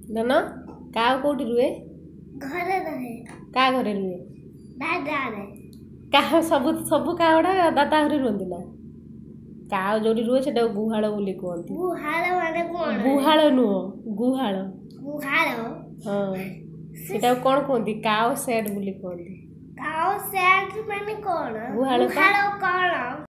ଧନ, କାଉ କୋଉଠି ରୁହେ? ଘରେ ରହେ। କାହା ଘରେ ରୁହେ? ଦାଦାରେ। କାହା ସବୁ ସବୁ କାଉ ଗୁଡ଼ା ଦାଦା ଘରେ ରୁହନ୍ତି ନା? କାଉ ଯୋଉଠି ରୁହେ ସେଟାକୁ ଗୁହାଳ ବୋଲି କୁହନ୍ତି। ଗୁହାଳ ମାନେ କଣ? ଗୁହାଳ ନୁହଁ, ଗୁହାଳ। ଗୁହାଳ। ହଁ, ସେଟାକୁ କଣ କୁହନ୍ତି? କାଉ ସେଡ୍ ବୋଲି କୁହନ୍ତି। କାଉ ସେଡ୍ ମାନେ କଣ? ଗୁହାଳ। ଗୁହାଳ କଣ?